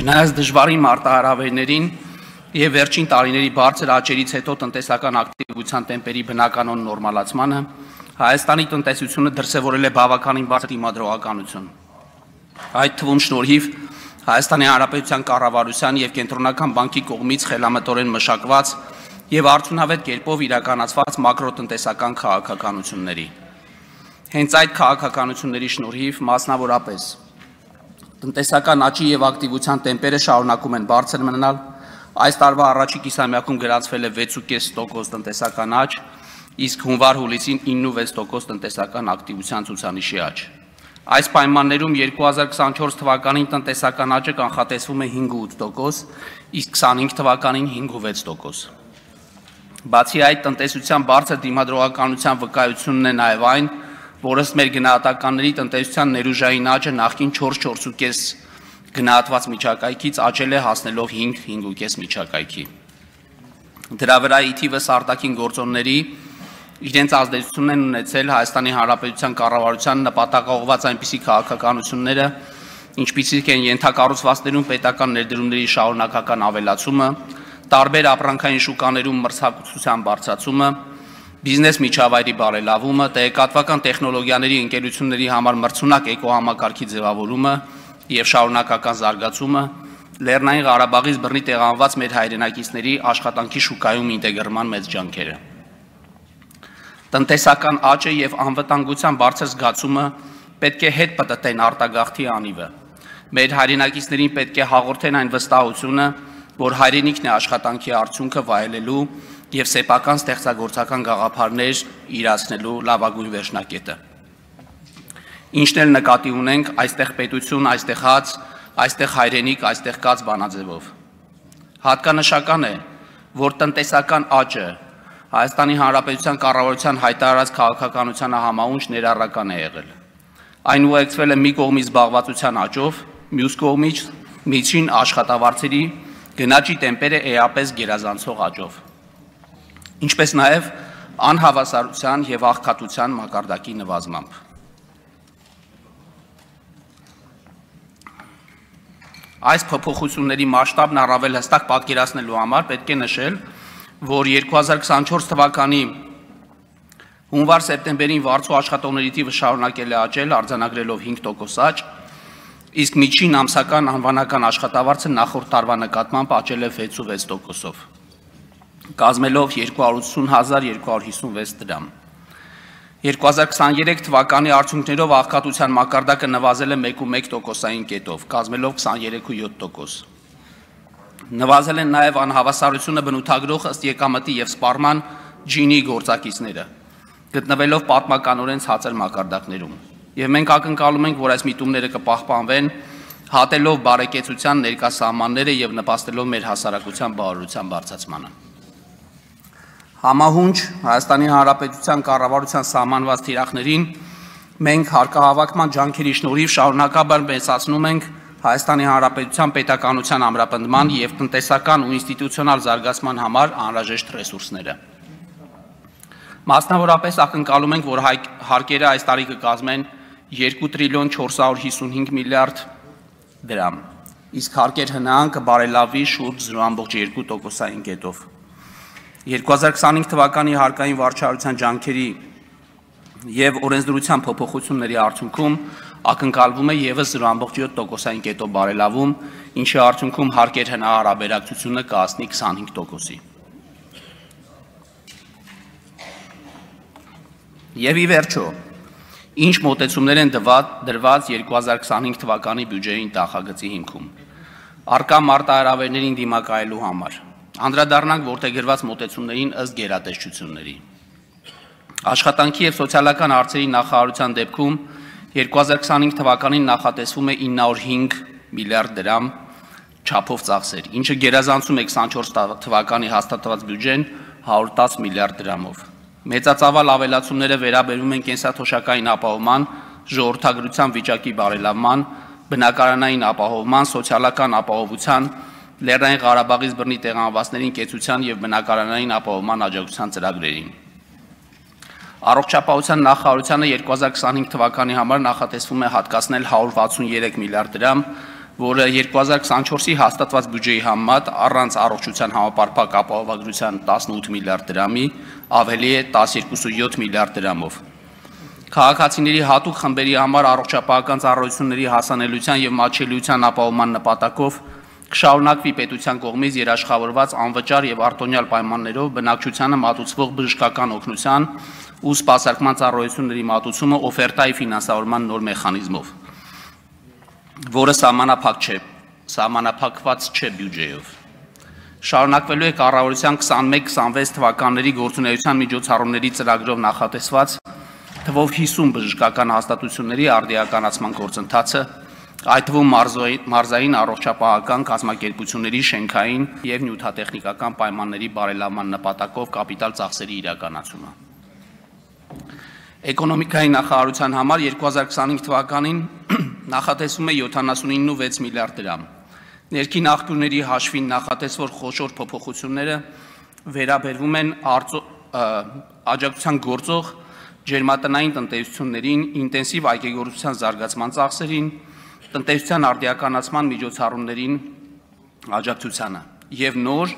Չնայած դժվարին մարտահրավերներին եւ վերջին տարիների բարձր աճերից հետո տնտեսական ակտիվության տեմպերի բնականon նորմալացմանը Հայաստանի տնտեսությունը դրսևորել է բավականին բարձր դիմադրողականություն։ Այդ թվում շնորհիվ Հայաստանի Հանրապետության կառավարության եւ Կենտրոնական բանկի կողմից խելամտորեն մշակված եւ արդյունավետ կերպով իրականացված մակրոտնտեսական քաղաքականությունների։ Հենց այդ քաղաքականությունների շնորհիվ մասնավորապես տնտեսական աճի եւ ակտիվության տեմպերը շարունակում են բարձր մնալ, այս տարվա առաջին կիսամյակում գրանցվել է 6.5% տնտեսական աճ, իսկ հունվար-հուլիսին 9.6% տնտեսական ակտիվության ցուցանիշի աճ։ Այս պայմաններում 2024 թվականին տնտեսական աճը կանխատեսվում է 5.8%, իսկ 25 թվականին 5.6%։ Բացի այդ, տնտեսության բարձր դիմադրողականության վկայությունն է նաև այն, որ ըստ մեր գնահատականների տնտեսության ներուժային աճը նախկին 4-4.5 գնահատված միջակայքից աճել է հասնելով 5-5.5 միջակայքի։ Դրա վրա ի թիվս արտաքին գործոնների իրենց ազդեցությունն են ունեցել Հայաստանի Հանրապետության կառավարության նպատակաուղղված այնպիսի քաղաքականությունները, ինչպիսիք են ենթակառուցվածքներում պետական ներդրումների շարունակական ավելացումը, տարբեր ապրանքային շուկաներում մրցակցության բարձրացումը, բիզնես միջավայրի բարելավումը, տեղեկատվական տեխնոլոգիաների ընկերությունների համար մրցունակ էկոհամակարգի ձևավորումը եւ շարունակական զարգացումը, Լեռնային Ղարաբաղից բռնի տեղանված մեր հայրենակիցների աշխատանքի շուկայում ինտեգրման մեծ ջանքերը։ Տնտեսական աճը եւ անվտանգության բարձր զգացումը պետք է հետ պտտեն արտագաղթի անիվը։ Մեր հայրենակիցներին պետք է հաղորդեն այն վստահությունը, որ հայրենիքն է աշխատանքի արդյունքը վայելելու եւ սեփական ստեղծագործական գաղափարներ իրացնելու լավագույն վերջնակետը։ Ինչն էլ նկատի ունենք այստեղ պետություն, այստեղ հաց, այստեղ հայրենիք, այստեղ կաց բանաձևով։ Հատկանշական է, որ տնտեսական աճը Հայաստանի Հանրապետության կառավարության հայտարարած քաղաքականությանը համաունչ ներառական է եղել։ Այն ուղեկցվել է մի կողմից զբաղվածության աճով, մյուս կողմից միջին աշխատավարձերի գնաճի տեմպերը էապես գերազանցող աճով, ինչպես նաև անհավասարության եւ աղքատության մակարդակի նվազմամբ։ Այս փոփոխությունների մասշտաբն առավել հստակ պատկերացնելու համար պետք է նշել, որ 2024 թվականի հունվար-սեպտեմբերին վարձու աշխատողների թիվը շարունակել է աճել, արձանագրելով 5% աճ, իսկ միջին ամսական անվանական աշխատավարձը նախորդ տարվա նկատմամբ աճել է 6.6%-ով, կազմելով 280.256 դրամ։ 2023 թվականի արդյունքներով աղքատության մակարդակը նվազել է 1.1%-ային կետով, կազմելով 23.7%։ Նվազել են նաև անհավասարությունը բնութագրող ըստ եկամտի եւ սպառման ջինի գործակիցները, գտնվելով պատմականորեն ցածր մակարդակներում։ Եվ մենք ակնկալում ենք, որ այս միտումները կպահպանվեն, հատելով բարեկեցության ներկա սահմանները եւ նպաստելով մեր հասարակության բարօրության բարձրացմանը։ Համահունչ Հայաստանի Հանրապետության կառավարության սահմանված թիրախներին մենք հարկահավաքման ջանքերի շնորհիվ շարունակաբար մեծացնում ենք Հայաստանի Հանրապետության պետականության ամրապնդման եւ տնտեսական ու ինստիտուցիոնալ զարգացման համար անհրաժեշտ ռեսուրսները։ Մասնավորապես ակնկալում ենք, որ հարկերը այս տարի կկազմեն 2.455 միլիարդ դրամ, իսկ հարկեր ՀՆԱ-ն կբարելավի շուրջ 0.2%-ային կետով։ 2025 թվականի հարկային վարչարության ջանքերի եւ օրենսդրության փոփոխությունների արդյունքում ակնկալվում է եւս 0.7%-ային կետով բարելավում, ինչի արդյունքում հարկեր ՀՆԱ հարաբերակցությունը կհասնի 25%-ի։ Եվ ի վերջո, ինչ մոտեցումներ են դրված 2025 թվականի բյուջեի նախագծի հիմքում։ Առկա մարտահրավերներին դիմակայելու համար անդրադառնանք որդեգրված մոտեցումներին ըստ գերատեսչությունների։ Աշխատանքի եւ սոցիալական հարցերի նախարարության դեպքում 2025 թվականին նախատեսվում է 905 միլիարդ դրամ չափով ծախսեր, ինչը գերազանցում է 24 թվականի հաստատված բյուջեն 110 միլիարդ դրամով։ Մեծածավալ ավելացումները վերաբերում են կենսաթոշակային ապահովման, ժողովրդագրության վիճակի բարելավման, բնակարանային ապահովման, սոցիալական ապահովության, Լեռնային Ղարաբաղից բռնի տեղանվածներին կեցության եւ բնակարանային ապահովման աջակցության ծրագրերին։ Առողջապահության նախարարությանը 2025 թվականի համար նախատեսվում է հատկացնել 163 միլիարդ դրամ որը 2024-ի հաստատված բյուջեի համեմատ առանց առողջության համապարփակ ապահովագրության 18 միլիարդ դրամի ավելի է 12.7 միլիարդ դրամով։ Քաղաքացիների հատուկ խմբերի համար առողջապահական ծառայությունների հասանելիության եւ մատչելիության ապահովման նպատակով կշարունակվի պետության կողմից երաշխավորված անվճար եւ արտոնյալ պայմաններով բնակչությանը մատուցվող բժշկական օգնության ու սպասարկման ծառայությունների մատուցումը օֆերտայի ֆինանսավորման նոր մեխանիզմով, որը սահմանափակված չէ բյուջեով։ Շարունակվելու է կառավարության 21-26 թվականների գործունեության միջոցառումների ծրագրով նախատեսված թվով 50 բժշկական հաստատությունների արդիականացման գործընթացը, այդ թվում մարզային առողջապահական կազմակերպությունների շենքային եւ նյութատեխնիկական պայմանների բարելավման նպատակով կապիտալ ծախսերի իրականացումը։ Էկոնոմիկայի նախարարության համար 2025 թվականին նախատեսվում է 79.6 միլիարդ դրամ։ Ներքին աղբյուրների հաշվին նախատեսվող խոշոր փոփոխությունները վերաբերվում են աջակցության գործող ջերմատնային տնտեսություններին, ինտենսիվ այգեգործության զարգացման ծախսերին, տնտեսության արդիականացման միջոցառումներին աջակցությանը եւ նոր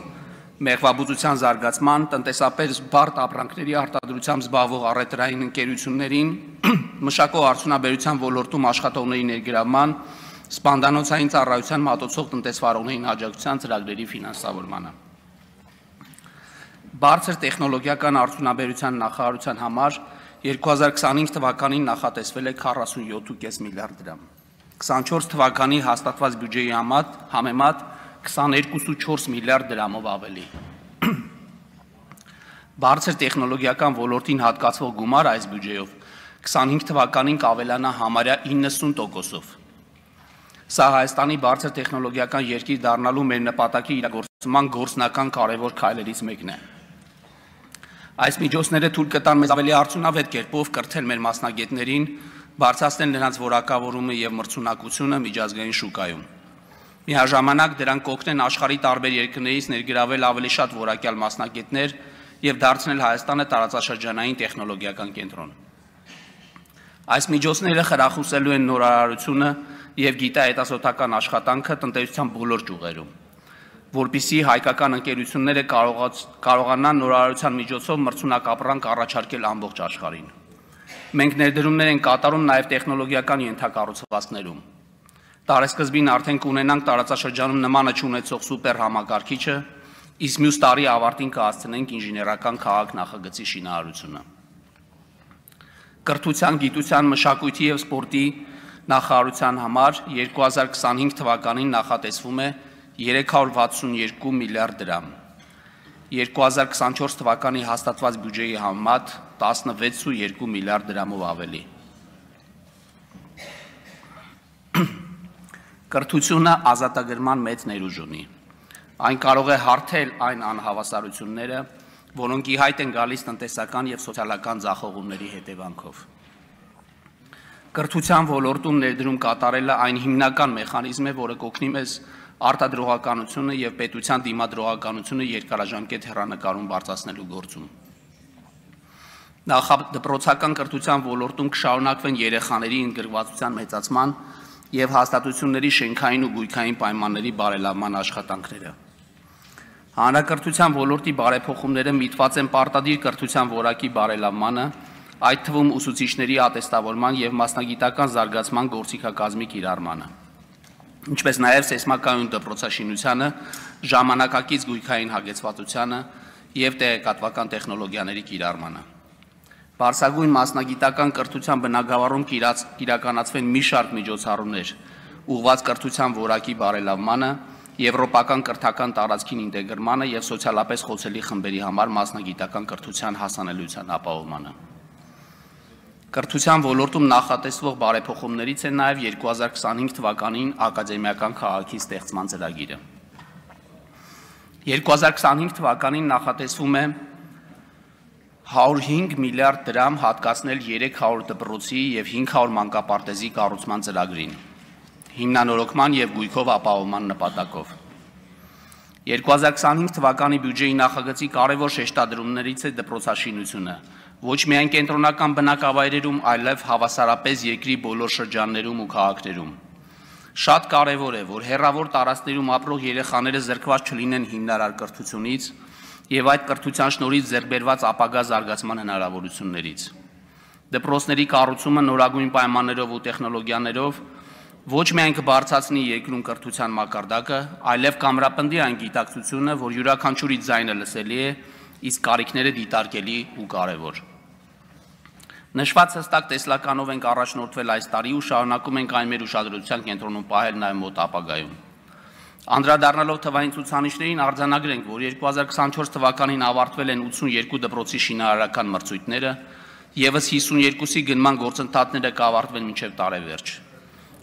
մեղվաբուծության զարգացման, տնտեսապես բարդ ապրանքների արտադրությամբ զբաղվող առևտրային ընկերություններին, մշակո-արդյունաբերության ոլորտում աշխատողների ներգրավման, սպանդանոցային ծառայության մատուցող տնտեսվարողներին աջակցության ծրագրերի ֆինանսավորմանը։ Բարձր տեխնոլոգիական արդյունաբերության նախարարության համար 2025 թվականին նախատեսվել է 47.5 միլիարդ դրամ։ 24 թվականի հաստատված բյուջեի համեմատ 22.4 միլիարդ դրամով ավելի։ Բարձր տեխնոլոգիական ոլորտին հատկացվող գումար այս բյուջեով 25 թվականին կավելանա համարյա 90%-ով։ Սա Հայաստանի բարձր տեխնոլոգիական երկիր դառնալու մեր նպատակի իրագործման գործնական կարևոր քայլերից մեկն է։ Այս միջոցները թույլ կտան մեզ ավելի արդյունավետ կերպով կրթել մեր մասնագետներին, բարձրացնել նրանց որակավորումը եւ մրցունակությունը միջազգային շուկայում։ Միաժամանակ դրանք կօգնեն աշխարհի տարբեր երկրներից ներգրավել ավելի շատ որակյալ մասնագետներ եւ դարձնել Հայաստանը տարածաշրջանային տեխնոլոգիական կենտրոն։ Այս միջոցները խրախուսելու են նորարարությունը եւ գիտահետազոտական աշխատանքը տնտեսության բոլոր ճյուղերում, որպիսի հայկական ընկերությունները կարողանան նորարարության միջոցով մրցունակ ապրանք առաջարկել ամբողջ աշխարհին։ Մենք ներդրումներ ենք կատարում նաեւ տեխնոլոգիական ենթակառուցվածքներում։ Տարեսկզբին արդեն կունենանք տարածաշրջանում նմանը չունեցող սուպեր համակարգիչը, իսկ մյուս տարի ավարտին կհասցնենք ինժեներական քաղաք նախագծի շինարարությունը։ Կրթության, գիտության, մշակույթի եւ սպորտի նախարարության համար 2025 թվականին նախատեսվում է 362 միլիարդ դրամ։ 2024 թվականի հաստատված բյուջեի համեմատ 16.2 միլիարդ դրամով ավելի։ Կրթությունը ազատագրման մեծ ներուժ ունի։ Այն կարող է հարթել այն անհավասարությունները, որոնք ի հայտ են գալիս տնտեսական եւ սոցիալական ձախողումների հետևանքով։ Կրթության ոլորտում ներդրում կատարելը այն հիմնական մեխանիզմ է, որը կօգնի մեզ արտադրողականությունը եւ պետության դիմադրողականությունը երկարաժամկետ հեռանկարում բարձրացնելու գործում։ Նախադպրոցական կրթության ոլորտում կշարունակվեն երեխաների ընդգրկվածության մեծացման եւ հաստատությունների շենքային ու գույքային պայմանների բարելավման աշխատանքները։ Հանրակրթության ոլորտի բարեփոխումները միտված են պարտադիր կրթության որակի բարելավմանը, այդ թվում ուսուցիչների ատեստավորման եւ մասնագիտական զարգացման գործիքակազմի կիրառմանը, ինչպես նաեւ սեյսմակայուն դպրոցաշինությանը, ժամանակակից գույքային հագեցվածությանը եւ տեղեկատվական տեխնոլոգիաների կիրառմանը։ Բարձրագույն մասնագիտական կրթության բնագավառում կիրականացվեն մի շարք միջոցառումներ, ուղղված կրթության որակի բարելավմանը, եվրոպական կրթական տարածքին ինտեգրմանը եւ սոցիալապես խոցելի խմբերի համար մասնագիտական կրթության հասանելիության ապահովմանը։ Կրթության ոլորտում նախատեսվող բարեփոխումներից է նաեւ 2025 թվականին ակադեմիական քաղաքի ստեղծման ծրագիրը։ 2025 թվականին նախատեսվում է 105 միլիարդ դրամ հատկացնել 300 դպրոցի եւ 500 մանկապարտեզի կառուցման ծրագրին, հիմնանորոգման եւ գույքով ապահովման նպատակով։ 2025 թվականի բյուջեի նախագծի կարևոր շեշտադրումներից է դպրոցաշինությունը, ոչ միայն կենտրոնական բնակավայրերում, այլև հավասարապես երկրի բոլոր շրջաններում ու քաղաքներում։ Շատ կարևոր է, որ հեռավոր տարածքներում ապրող երեխաները զրկված չլինեն հիմնարար կրթությունից եւ այդ կրթության շնորհիվ ձեռք բերված ապագա զարգացման հնարավորություններից։ Դպրոցների կառուցումը նորագույն պայմաններով ու տեխնոլոգիաներով ոչ միայն կբարձրացնի երկրում կրթության մակարդակը, այլև կամրապնդի այն գիտակցությունը, որ յուրաքանչյուրի ձայնը լսելի է, իսկ կարիքները դիտարկելի ու կարևոր։ Նշված հստակ տեսլականով ենք առաջնորդվել այս տարի ու շարունակում ենք այն մեր ուշադրության կենտրոնում պահել նաև մոտ ապագայում։ Անդրադառնալով թվային ցուցանիշներին արձանագրենք, որ 2024 թվականին ավարտվել են 82 դպրոցի շինարարական մրցույթները, եւս 52-ի գնման գործընթացները կավարտվեն մինչև տարեվերջ։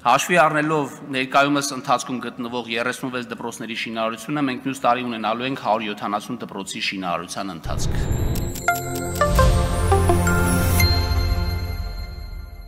Հաշվի առնելով ներկայումս ընթացքում գտնվող 36 դպրոցների շինարարությունը, մենք մյուս տարի ունենալու ենք 170 դպրոցի շինարարության ընթացք։